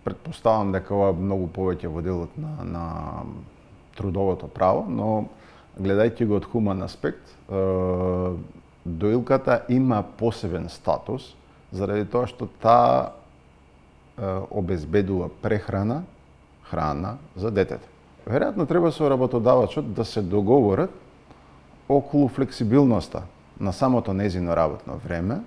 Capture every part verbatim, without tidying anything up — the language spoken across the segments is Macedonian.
Предпоставам дека ова многу повеќе во делот на, на трудовото право, но гледајќи го од хуман аспект, доилката има посебен статус заради тоа што таа обезбедува прехрана, храна за детето. Веројатно треба со работодавачот да се договорат околу флексибилноста на самото незино работно време,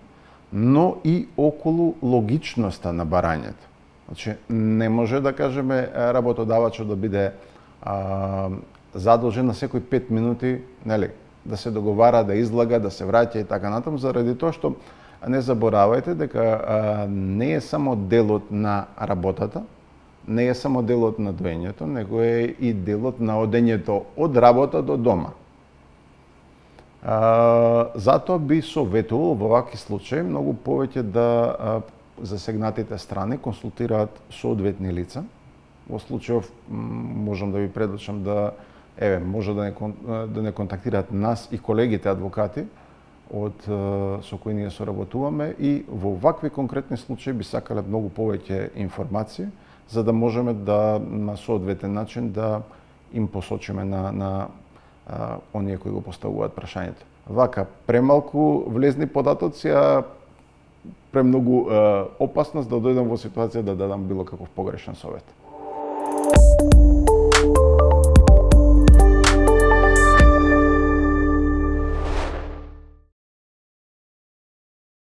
но и околу логичноста на барањето. Значи, не може да кажеме работодавачот да биде а, задолжен на секои пет минути, нели, да се договара, да излага, да се враќа и така натаму, заради тоа што не заборавајте дека а, не е само делот на работата, не е само делот на доењето, него е и делот на одењето од работа до дома. А, затоа би советувал во вакви случаи многу повеќе да а, засегнатите страни консултираат соодветни лица. Во случајов можам да ви предучам да еве може да не да не контактираат нас и колегите адвокати од со кои ние соработуваме и во вакви конкретни случаи би сакале многу повеќе информации за да можеме да на соодветен начин да им посочиме на на а, оние кои го поставуваат прашањето. Вака премалку влезни податоци, а премногу е, опасност да дојдам во ситуација да дадам било каков погрешен совет.